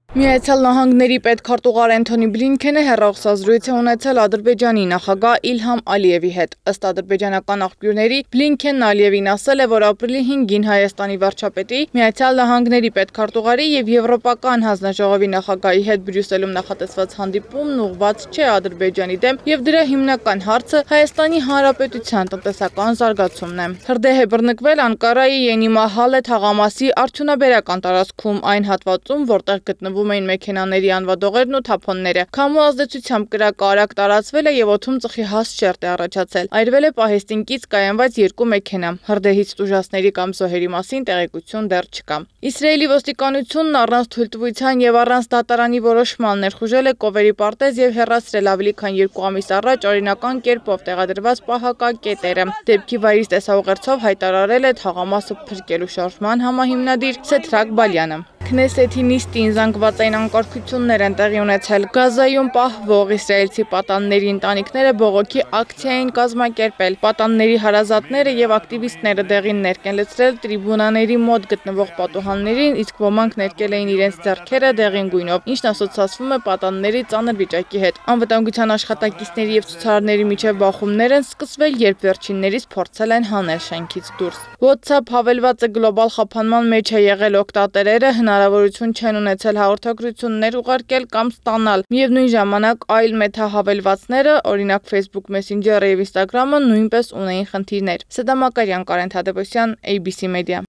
Միացյալ Նահանգների պետքարտուղար Անթոնի Բլինքենը հեռախոսազրույց է ունեցել Ադրբեջանի նախագահ Իլհամ Ալիևի հետ։ Ըստ ադրբեջանական աղբյուրների, Բլինքենն Ալիևին ասել է, որ ապրիլի 5-ին Հայաստանի վարչապետի, Միացյալ Նահանգների պետքարտուղարի եւ Եվրոպական հանձնաժողովի նախագահի հետ Բրյուսելում նախատեսված հանդիպումն ուղղված չէ Ադրբեջանի դեմ եւ դրա հիմնական հարցը Հայաստանի Հանրապետության տնտեսական զարգացումն է։ Հրդեհ է բռնկվել Անկարայի Ենիմահալե թաղամասի արդյունաբերական տարածքում այն հատվածում, որտեղ գտնվում էին մեքենաների անվադողերն ու թափոնները։ Քամու ազդեցությամբ կրակը արագ տարածվել է եւ օդում ծխի հաստ շերտ է առաջացել։ Այրվել է պահեստին կից կայանված 2 մեքենա։ Հրդեհից տուժածների կամ զոհերի մասին տեղեկություն դեռ չկա։ Իսրայելի ոստիկանությունն առանց թույլտվության եւ առանց դատարանի որոշման ներխուժել է Կովերի պարտեզ եւ հեռացրել ավելի քան 2 ամիս առաջ օրինական կերպով տեղադրված պահակակետերը։ Դեպքի վայրից տեսաուղերձով հայտարարել է թաղամասը փրկելու շարժման համահիմնադիր Սեդրակ Բալյանը։ Քնեսեթի նիստին զանգվածային անկարգություններ են տեղի ունեցել։ Գազայում պահվող իսրայելցի պատանների ընտանիքները բողոքի ակցիա են կազմակերպել։ Պատանների հարազատները եւ ակտիվիստները դեղին ներկ են լցրել տրիբունաների մոտ գտնվող պատուհաններին, իսկ ոմանք ներկել էին իրենց ձեռքերը դեղին գույնով, ինչն ասոցացվում է պատանների ծանր վիճակի հետ։ Անվտանգության աշխատակիցների եւ ցուցարարների միջև բախումներ են սկսվել, երբ վերջիններից փորձել են հանել շենքից դուրս։ WhatsApp հավելվածը գլոբալ խափանման մեջ է եղել օգտատերերը հնարավորություն չեն ունեցել հաղորդագրություններ ուղարկել կամ ստանալ։ Միևնույն ժամանակ այլ մեթահավելվածները, օրինակ Facebook Messenger-ը եւ Instagram-ը նույնպես ունեին խնդիրներ։ Սեդա Մակարյան, Կարեն Թադևոսյան, ABC Media։